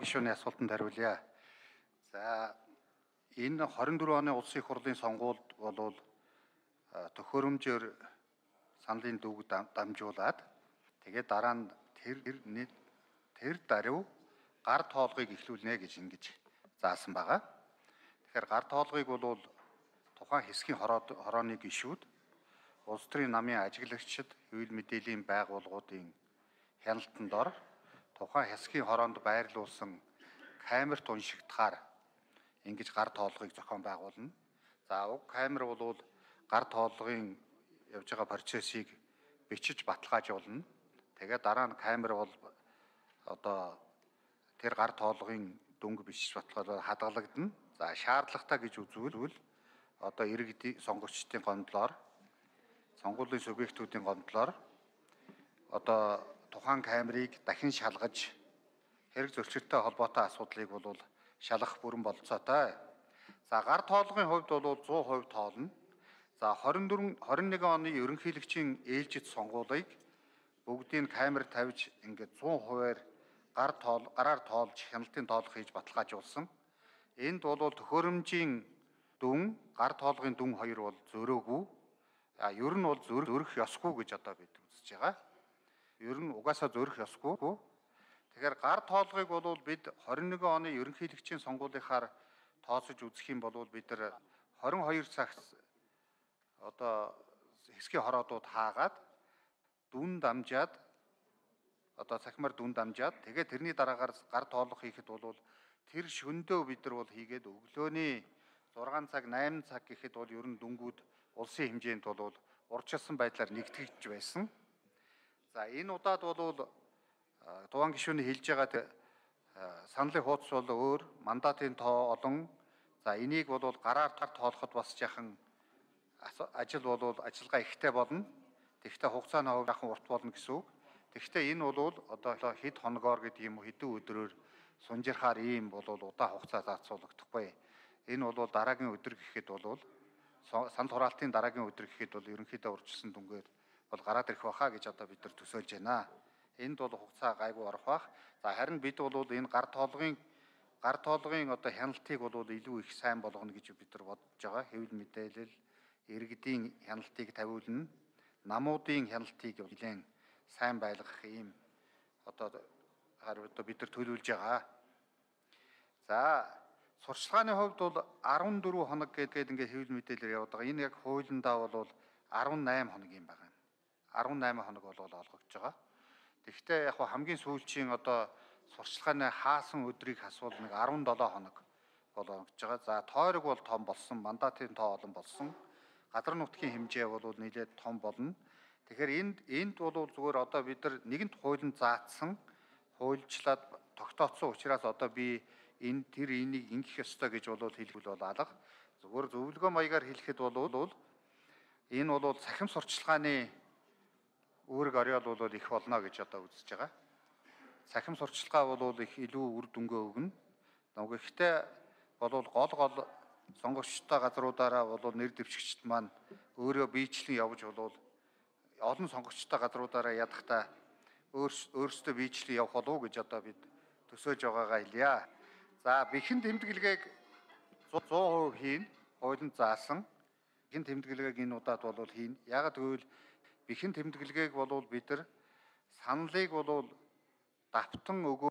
Гишүүний асуултанд хариулъя. За энэ 24 оны улсын их хурлын сонгуульд болвол төхөөрөмжөөр саналын дүүг дамжуулаад тэгээд дараа нь тэр даруй гар тоолгыг эхлүүлнэ гэж ингэж заасан байгаа. Тэгэхээр гар тоолгыг бол тухайн хэсгийн хорооны гишүүд, улс төрийн намын ажиглагчид, хэвлэл мэдээллийн байгууллагуудын хяналтанд ор тухайн хэсгийн хороонд байрлуулсан камерт уншигдахаар ингэж гар тоолгыг зохион байгуулна. За уг камер бол гар тоолгын явж байгаа процессыг бичиж баталгаажуулна. Тэгээд дараа нь камер бол одоо тэр гар тоолгын дүнг бичиж баталгаажуулаад хадгалагдана. За шаардлагатай гэж үзвэл одоо иргэдийн сонгогчдын гомдлоор, сонгуулийн субъектүүдийн гомдлоор одоо тухайн камерыг дахин шалгаж хэрэг зөрчилтэй холбоотой асуудлыг бол шалгах бүрэн болцоотой. За гар тоолгын хувьд бол 100% тоолно. За 21 оны ерөнхийлөгчийн ээлжид сонгуулийг бүгдийг камер тавьж ингээд 100%-аар гараар тоолж хяналтын тоолго хийж баталгаажуулсан. Энд бол төхөөрөмжийн дүн, гар тоолгын дүн хоёр бол зөрөөгүй. Ер нь бол зөрөх ёсгүй гэж одоо бид үзэж байгаа. Ер нь угаасаа зөрөх ёсгүй. Тэгэхээр гар тоолгыг бол бид 21 оны ерөнхийлөгчийн сонгуулийнхаар тооцож үзэх юм бол бид нар 22 цагт одоо хэсгийн хороодууд хаагаад дүн дамжаад одоо цахимаар дүн дамжаад тэгээд тэрний дараагаар гар тоолго хийхэд бол тэр шөндөө бид нар бол хийгээд өглөөний 6 цаг 8 цаг гэхэд бол ер нь дүнгууд улсын хэмжээнд бол урьдчилсан байдлаар нэгтгэж байсан. За энэ удаад бол Дуван гишүүний хэлж байгаа саналын хуудас бол өөр, мандатын тоо олон. За энийг бол гараар тоолоход бас жахан ажил бол ажиллагаа ихтэй болно. Тэгвэл хугацааны хувьд жахан урт болно гэсэн үг. Тэгвэл энэ бол одоо хэд хоногоор гэдэг юм уу хэдэн өдрөөр сунжирхаар ийм бол удаан хугацаа зарцуулагдахгүй. Энэ бол дараагийн өдөр гэхэд бол санал хураалтын дараагийн өдөр гэхэд бол ерөнхийдөө урьдчилсан дүнгээр бол гараад ирэх байхаа гэж одоо бид нар төсөөлж байна. Энд бол хугацаа гайгүй орох бах. За харин бид бол энэ гар тоолгын одоо хяналтыг бол илүү их сайн болгоно гэж бид нар бодож байгаа. Хэвлэл мэдээлэл, иргэдийн хяналтыг тавиулна, намуудын хяналтыг нэлээд сайн байлгах ийм одоо бид нар төлөвлөж байгаа. За сурчлагын хувьд бол 14 хоног гэдэг ингээд хэвлэл мэдээлэлээр яваад байгаа. Энэ яг хуулиндаа бол 18 хоног юм байна. 18 хоног бол олгогдож байгаа. Тэгэхдээ яг хамгийн сүүлчийн одоо сурчлагын хаасан өдрийг асуул нэг 17 хоног бол олгогдож байгаа. За тойрог бол том болсон, мандатын тоо олон болсон. Газар нутгийн хэмжээ бол нэлээд том болно. Тэгэхээр энд бол зүгээр одоо бид нар нэгэнт хуулинд заасан, хуульчлаад тогтооцсон учраас одоо би энийг ингэх ёстой гэж бол хэлэх бол алга. Зүгээр зөвлөгөө маягаар хэлэхэд бол энэ бол цахим сурчлагын үүрэг орёол бол их болно гэж одоо үзэж байгаа. Цахим сурчлагаа бол их илүү үр дүнгээ өгнө. Гэхдээ бол гол сонгогчтой газруудаараа бол нэр дэвшигчд маань өөрөө биечлэн явж бол олон сонгогчтой газруудаараа ядахта өөрсдөө биечлэн явах болов гэж одоо бид төсөөлж байгаагаа хэлье. За бэхэн тэмдэглэгийг 100% хийн, хуулинд заасан. Бэхэн тэмдэглэгийг энэ удаад бол хийн. Яагаад гэвэл бэхэн тэмдэглэгийг бол бид нар саналыг бол давтан өгөө